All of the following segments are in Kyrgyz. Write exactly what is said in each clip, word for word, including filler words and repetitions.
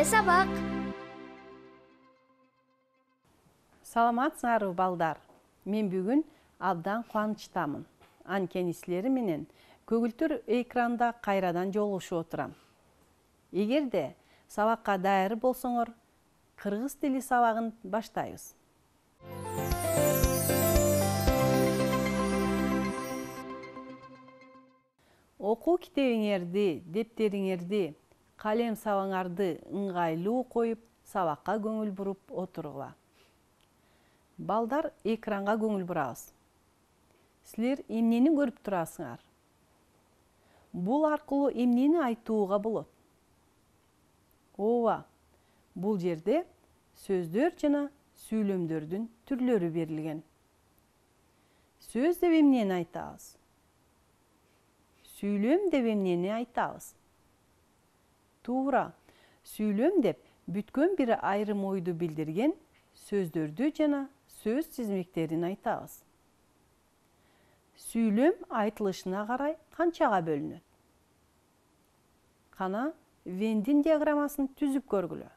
Келе сабак. Саламатсыңарбы балдар? Мен бүгүн абдан кубанычтамын. Анткени силер менен көгүлтүр экранда кайрадан жолугушуп отурам. Эгерде сабакка даяр болсоңор, кыргыз тили сабагын баштайбыз. Окуу китебиңерди, дептериңерди, калем сабаңарды ыңгайлуу коюп, сабакка көңүл буруп отургула. Балдар, экранга көңүл бурабыз. Силер эмнени көрүп турасыңар? Бул аркылуу эмнени айтууга болот? Ооба, бул жерде сөздөр жана сүйлөмдөрдүн түрлөрү берилген. Сөз деп эмнени айтабыз? Сүйлөм деп эмнени айтабыз? Туура, сүйлөм деп бүткөн бир айрым ойду билдирген сөздөрдү жана сөз тизмектерин айтабыз. Сүйлөм айтылышына карай канчага бөлүнөт? Кана Вендин диаграммасын түзүп көргүлө.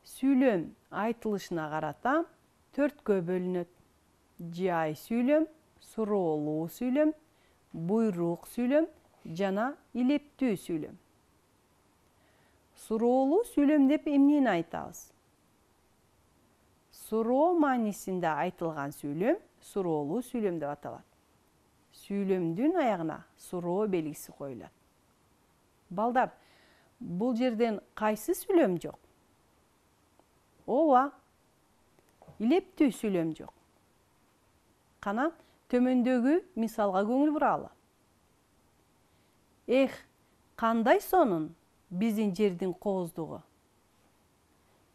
Сүйлөм айтылышына карата төрткө бөлүнөт. Жай сүйлөм, суроолуу сүйлөм, буйрук сүйлөм жана илептүү сүйлөм. Суроолуу сүйлөм деп эмнени айтабыз? Суроо маанисинде айтылган сүйлөм суроолуу сүйлөм деп аталат. Сүйлөмдүн аягына суроо белгиси коюлат. Балдар, бул жерден кайсы сүйлөм жок? Ооба, илептүү сүйлөм жок. Кана төмөндөгү мисалга көңүл буралы. Эх, кандай сонун биздин жердин кооздугу.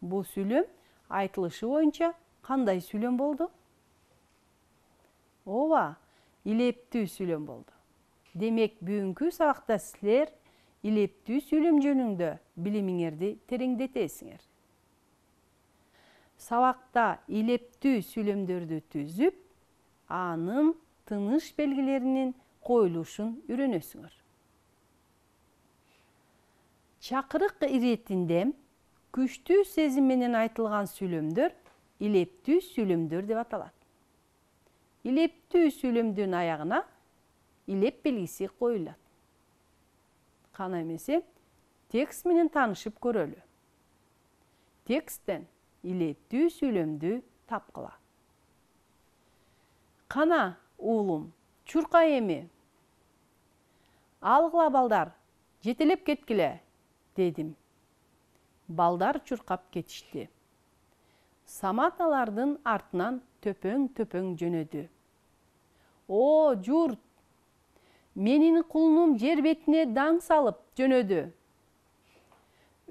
Бул сүйлөм айтылышы боюнча кандай сүйлөм болду? Ооба, илептүү сүйлөм болду. Демек, бүгүнкү сабакта силер илептүү сүйлөм жөнүндө билимиңерди тереңдетесиңер. Сабакта илептүү сүйлөмдөрдү түзүп, анын тыныш белгилеринин коюлушун үйрөнөсүңөр. Чакырык иретинде күчтүү сезим менен айтылган сүйлөмдөр илептүү сүйлөмдөр деп аталат. Илептүү сүйлөмдүн аягына илеп белгиси коюлат. Кана эмесе, текст менен таанышып көрөлү. Тексттен илептүү сүйлөмдү тапкыла. Кана, уулум, чурка эми. Алгыла балдар, жетелеп кеткиле, дедим. Балдар чуркап кетишти. Самат алардын артынан төпөң-төпөң жөнөдү. О, журт! Менин кулунум жер бетине даң салып жөнөдү.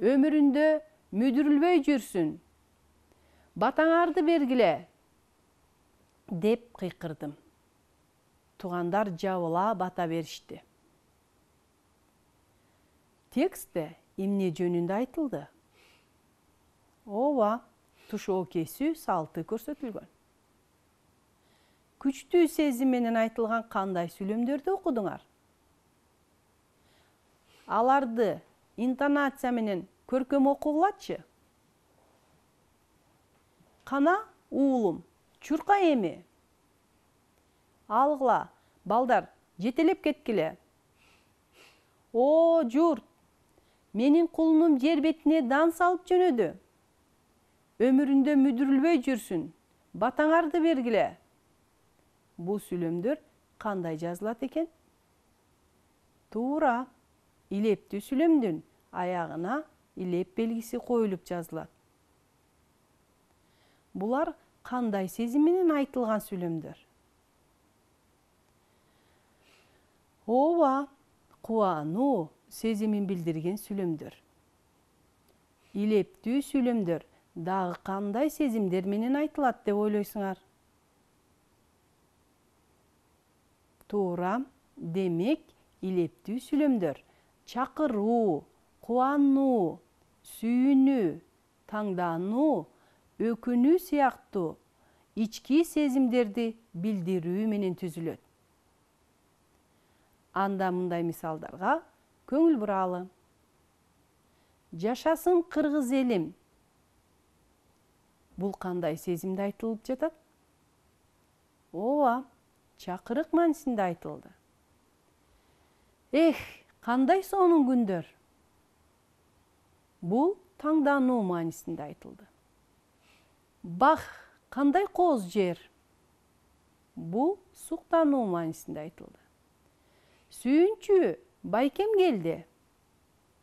Өмүрүндө мүдүрүлбөй жүрсүн. Батаңарды бергиле, деп кыйкырдым. Туугандар жабыла бата беришти. Текстте эмне жөнүндө айтылды? Ооба, тушоо кесүү салты көрсөтүлгөн. Күчтүү сезим менен айтылган кандай сүйлөмдөрдү окудуңар? Аларды интонация менен көркөм окугулачы. Кана, уулум, чурка эми. Алгыла, балдар, жетелеп кеткиле. О, журт! Менин кулунум жер бетине даң салып жөнөдү. Өмүрүндө мүдүрүлбөй жүрсүн. Батаңарды бергиле. Бул сүйлөмдөр кандай жазылат экен? Туура, илептүү сүйлөмдүн аягына илеп белгиси коюлуп жазылат. Булар кандай сезим менен айтылган сүйлөмдөр? Ооба, кубануу сезимин билдирген сүйлөмдөр. Илептүү сүйлөмдөр дагы кандай сезимдер менен айтылат деп ойлойсуңар? Туура, демек, илептүү сүйлөмдөр чакыруу, кубануу, сүйүнүү, таңдануу, өкүнүү сыяктуу ички сезимдерди билдирүү менен түзүлөт. Анда мындай мисалдарга көңүл буралы. Жашасын кыргыз элим. Бул кандай сезимде айтылып жатат? Ооба, чакырык маанисинде айтылды. Эх, кандай сонун күндөр. Бул таңдануу маанисинде айтылды. Бах, кандай кооз жер. Бул суктануу маанисинде айтылды. Сүйүнчү, байкем келди.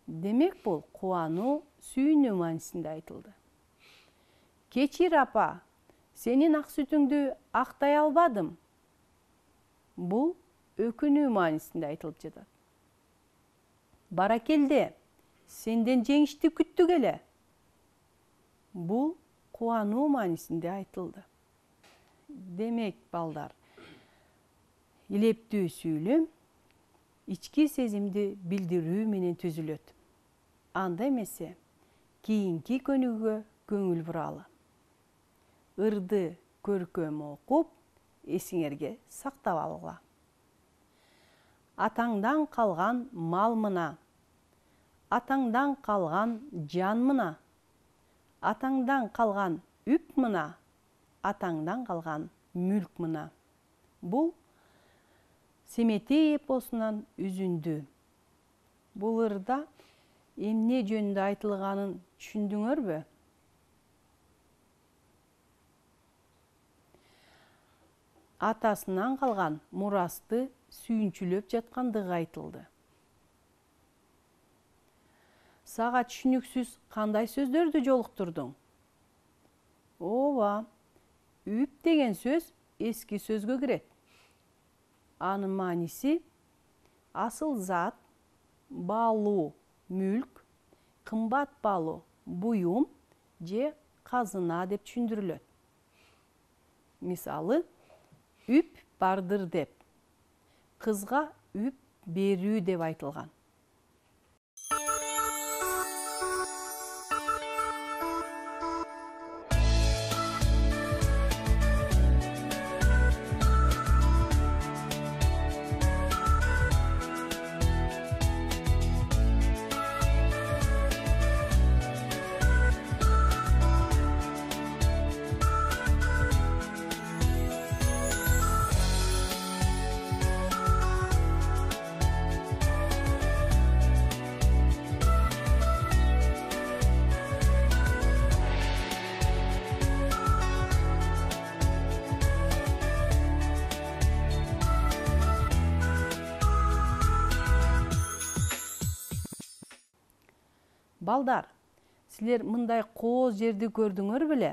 Демек бул кубануу, сүйүнүү маанисинде айтылды. Кечир апа, сенин ак сүтүңдү актай албадым. Бул өкүнүү маанисинде айтылып жатат. Баракелде, сенден жеңишти күттүк эле. Бул кубануу маанисинде айтылды. Демек, балдар, илептүү сүйлөм ички сезимди билдирүү менен түзүлөт. Анда эмесе, кийинки көнүгүүгө көңүл буралы. Ырды көркөм окуп, эсиңерге сактап алгыла. Атаңдан калган мал мына, атаңдан калган жан мына, атаңдан калган үп мына, атаңдан калган мүлк мына. Бул Семетей эпосунан үзүндү. Бул ырда эмне жөнүндө айтылганын түшүндүңөрбү? Атасынан калган мурасты сүйүнчүлөп жаткандыгы айтылды. Сага түшүнүксүз кандай сөздөрдү жолуктурдуң? Ооба, үп деген сөз эски сөзгө кирет. Анын мааниси асыл зат, баалуу мүлк, кымбат баалуу буюм же казына деп түшүндүрүлөт. Мисалы, үп бардыр деп, кызга үп берүү деп айтылган. Балдар, силер мындай кооз жерди көрдүңөр беле?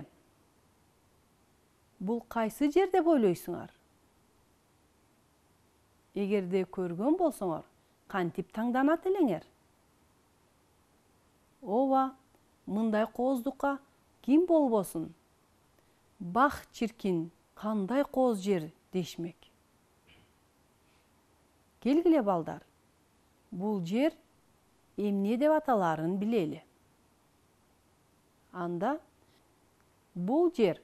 Бул кайсы жер деп ойлойсуңар? Эгерде көргөн болсоңор, кантип таңданат элеңер? Ооба, мындай кооздукка ким болбосун? Бах чиркин, кандай кооз жер дешмек. Келгиле балдар, бул жер эмне деп аталарын билели. Анда бул жер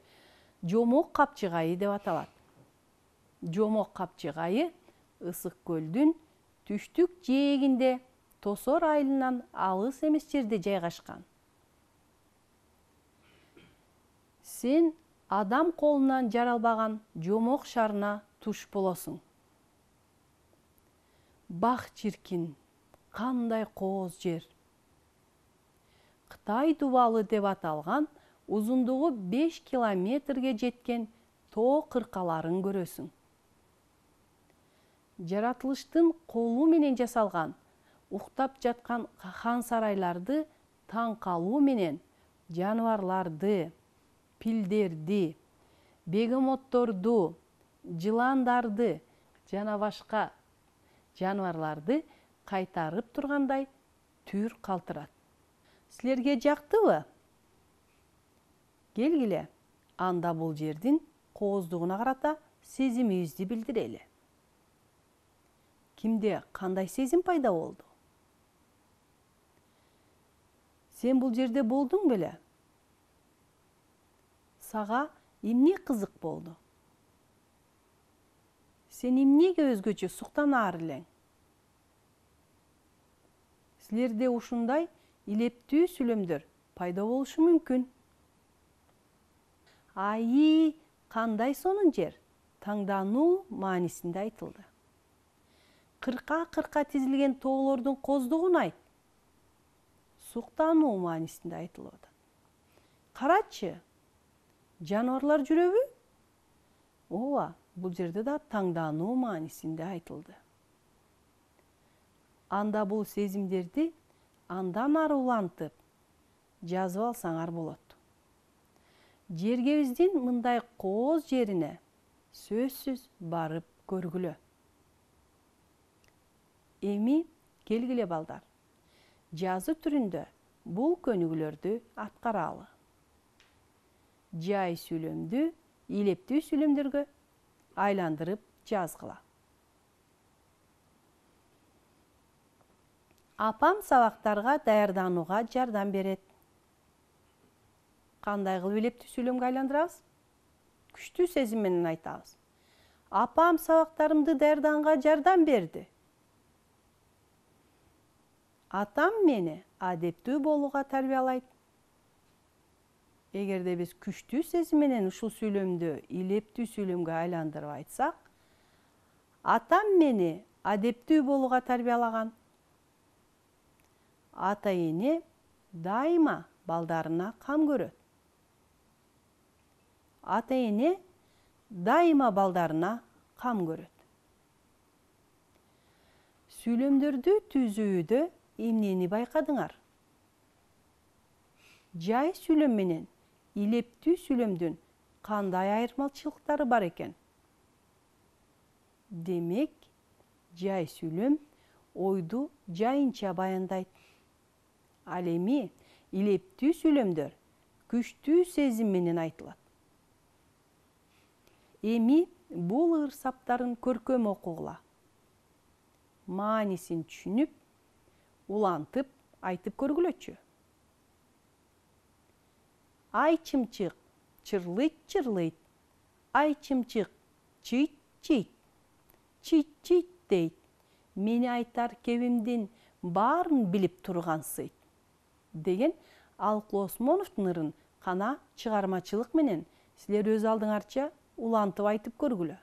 Жомок капчыгайы деп аталат. Жомок капчыгайы Ысык көлдүн түштүк жээгинде Тосор айылынан алыс эмес жерде жайгашкан. Сен адам колунан жаралбаган Жомок шаарына туш болосуң. Бах чиркин, кандай кооз жер. Кытай дубалы деп аталган узундугу беш километрге жеткен тоо кыркаларын көрөсүң. Жаратылыштын колу менен жасалган, уктап жаткан хан сарайларды таң калуу менен жаныбарларды, пилдерди, бегемотторду, жыландарды жана башка жаныбарларды кайтарып тургандай түр калтырат. Силерге жактыбы? Келгиле, анда бул жердин кооздугуна карата сезимибизди билдирели. Кимде кандай сезим пайда болду? Сен бул жерде болдуң беле? Сага эмне кызык болду? Сен эмнеге өзгөчө суктанаар элең? Силерде ушундай илептүү сүйлөмдөр пайда болушу мүмкүн. Айы кандай сонун жер таңдануу маанисинде айтылды. Кырка-кырка тизилген тоолордун коздугун айт. Суктануу маанисинде айтылып атат. Карачы, жаныбарлар жүрөбү? Ооба, бул жерде да таңдануу маанисинде айтылды. Анда бул сезимдерди андан ары улантып жазып алсаңар болот. Жергебиздин мындай кооз жерине сөзсүз барып көргүлө. Эми келгиле балдар. Жазуу түрүндө бул көнүгүүлөрдү аткаралы. Жай сүйлөмдү илептүү сүйлөмдөргө айландырып жазгыла. Апам сабактарга даярданууга жардам берет. Кандай кылып илептүү сүйлөмгө айландырабыз? Күчтүү сезим менен айтабыз. Апам сабактарымды даярданганга жардам берди. Атам мени адептүү болууга тарбиялайт. Эгерде биз күчтүү сезим менен ушул сүйлөмдү илептүү сүйлөмгө айландырып айтсак, атам мени адептүү болууга тарбиялаган. Ата-эне дайыма балдарына кам көрөт. Ата-эне дайыма балдарына кам көрөт. Сүйлөмдөрдү түзүүдө эмнени байкадыңар? Жай сүйлөм менен илептүү сүйлөмдүн кандай айырмачылыктары бар экен? Демек, жай сүйлөм ойду жайынча баяндайт. Ал эми илептүү сүйлөмдөр күчтүү сезим менен айтылат. Эми бул ырсаптарын көркөм окугула. Маанисин түшүнүп, улантып айтып көргүлөчү. Ай чымчык чырлыйт-чырлыйт, ай чымчык чыйт-чыйт, чыйт-чыйт дейт. Мени айтар кебимдин баарын билип тургансыйт. Деген Алыклы Осмоновдун ырын кана чыгармачылык менен силер өз алдыңарча улантып айтып көргүлө.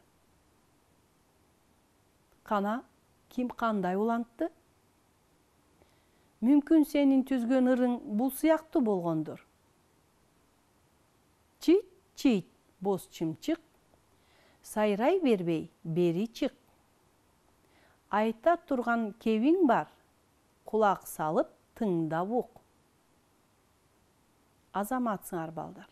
Кана, ким кандай улантты? Мүмкүн сенин түзгөн ырың бул сыяктуу болгондур. Чыйт-чыйт боз чымчык, сайрай бербей бери чык. Айта турган кебиң бар, кулак салып тыңдап ук. Азаматсыңар балдар.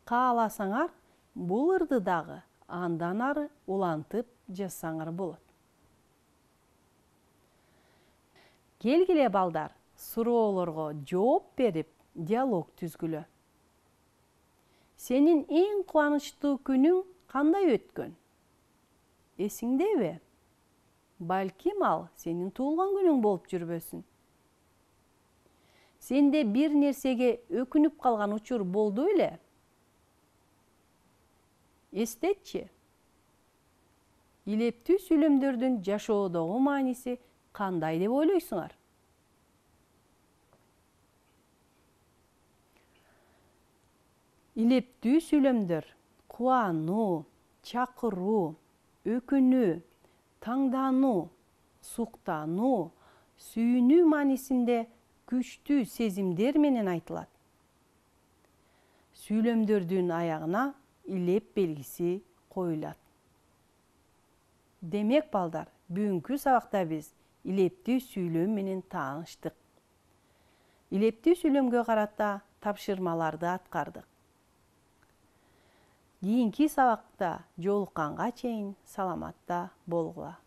Кааласаңар, бул ырды дагы андан ары улантып жазсаңар болот. Келгиле балдар, суроолорго жооп берип, диалог түзгүлө. Сенин эң кубанычтуу күнүң кандай өткөн? Эсиңдеби? Балким ал сенин туулган күнүң болуп жүрбөсүн. Сенде бир нерсеге өкүнүп калган учур болду беле? Эстетчи. Илептүү сүйлөмдөрдүн жашоодогу мааниси кандай деп ойлойсуңар? Илептүү сүйлөмдөр кубануу, чакыруу, өкүнүү, таңдануу, суктануу, сүйүнүү маанисинде күчтүү сезимдер менен айтылат. Сүйлөмдөрдүн аягына илеп белгиси коюлат. Демек балдар, бүгүнкү сабакта биз илептүү сүйлөм менен тааныштык. Илептүү сүйлөмгө карата тапшырмаларды аткардык. Кийинки сабакта жолукканга чейин саламатта болгула.